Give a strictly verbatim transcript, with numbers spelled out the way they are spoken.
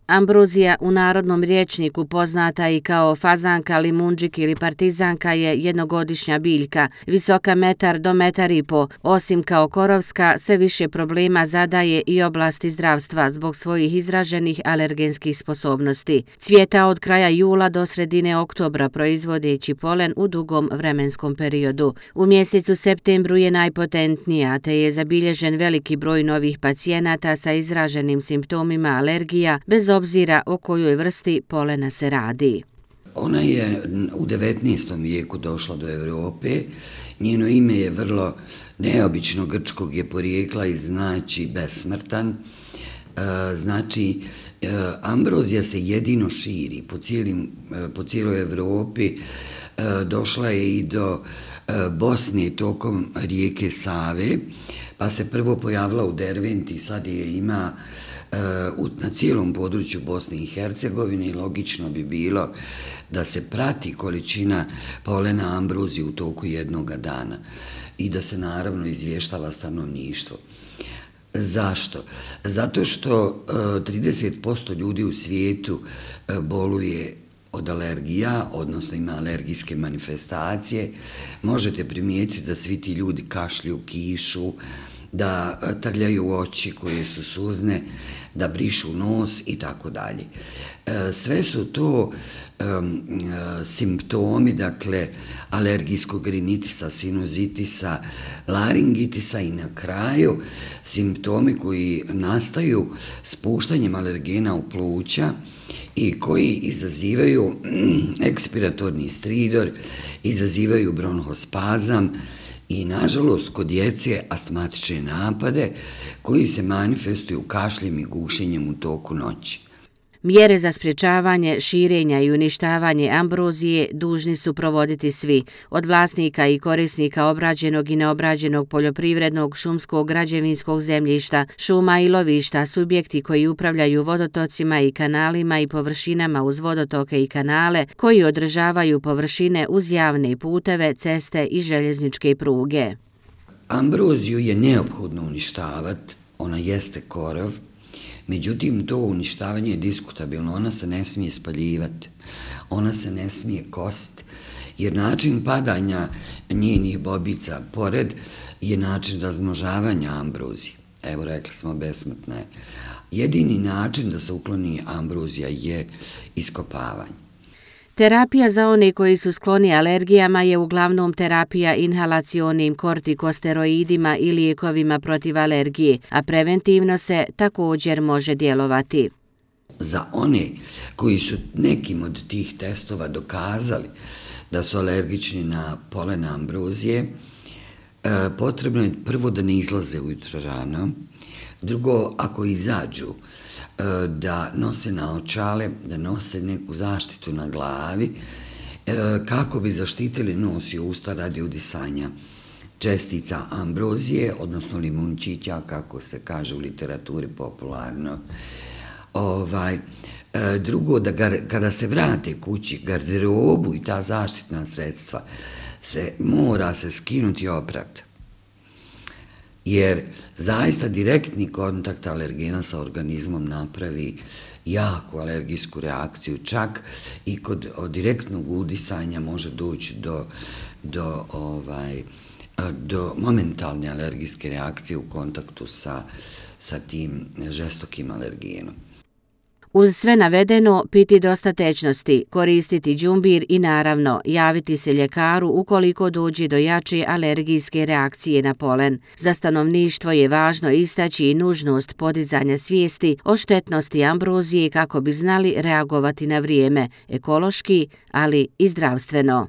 Ambrozija, u narodnom rječniku poznata i kao fazanka, limunđik ili partizanka, je jednogodišnja biljka, visoka metar do metar i po. Osim kao korovska, sve više problema zadaje i oblasti zdravstva zbog svojih izraženih alergenskih sposobnosti. Cvijeta od kraja jula do sredine oktobra, proizvodeći polen u dugom vremenskom periodu. U mjesecu septembru je najpotentnija, te je zabilježen veliki broj novih pacijenata sa izraženim simptomima alergija, bez obzira o kojoj vrsti polena se radi. Ona je u devetnaestom vijeku došla do Europe. Njeno ime je vrlo neobično, grčkog je porijekla i znači besmrtan. Znači, ambrozija se jedino širi po, cijelim, po cijeloj Europi. Došla je i do Bosne tokom rijeke Save, pa se prvo pojavila u Derventi, sad je ima na cijelom području Bosne i Hercegovine i logično bi bilo da se prati količina polena ambrozije u toku jednoga dana i da se naravno izvještava stanovništvo. Zašto? Zato što trideset posto ljudi u svijetu boluje od alergija, odnosno ima alergijske manifestacije. Možete primijetiti da svi ti ljudi kašlju, kišu, da trljaju oči koje su suzne, da brišu nos i tako dalje. Sve su to um, simptomi, dakle, alergijskog rinitisa, sinuzitisa, laringitisa i na kraju simptomi koji nastaju spuštanjem alergena u pluća i koji izazivaju ekspiratorni stridor, izazivaju bronhospazam i, nažalost, kod djece astmatične napade koji se manifestuju kašljem i gušenjem u toku noći. Mjere za sprječavanje, širenja i uništavanje ambrozije dužni su provoditi svi, od vlasnika i korisnika obrađenog i neobrađenog poljoprivrednog, šumskog, građevinskog zemljišta, šuma i lovišta, subjekti koji upravljaju vodotocima i kanalima i površinama uz vodotoke i kanale, koji održavaju površine uz javne puteve, ceste i željezničke pruge. Ambroziju je neophodno uništavati, ona jeste korov. Međutim, to uništavanje je diskutabilno, ona se ne smije spaljivati, ona se ne smije kositi, jer način padanja njenih bobica pored je način razmnožavanja ambrozije. Evo, rekli smo, besmrtna je. Jedini način da se ukloni ambrozija je iskopavanje. Terapija za one koji su skloni alergijama je uglavnom terapija inhalacionim kortikosteroidima i lijekovima protiv alergije, a preventivno se također može djelovati. Za one koji su nekim od tih testova dokazali da su alergični na polen ambrozije, potrebno je prvo da ne izlaze ujutro rano, drugo, ako izađu, da nose naočale, da nose neku zaštitu na glavi, kako bi zaštitili nos i usta radi udisanja čestica ambrozije, odnosno limunčića, kako se kaže u literaturi popularno. Ovaj, drugo, da gar, kada se vrate kući, garderobu i ta zaštitna sredstva, se mora se skinuti i oprati. Jer zaista direktni kontakt alergena sa organizmom napravi jaku alergijsku reakciju, čak i kod direktnog udisanja može doći do, do, ovaj, do momentalne alergijske reakcije u kontaktu sa, sa tim žestokim alergenom. Uz sve navedeno, piti dosta tečnosti, koristiti đumbir i naravno javiti se ljekaru ukoliko dođe do jače alergijske reakcije na polen. Za stanovništvo je važno istaći i nužnost podizanja svijesti o štetnosti ambrozije kako bi znali reagovati na vrijeme, ekološki, ali i zdravstveno.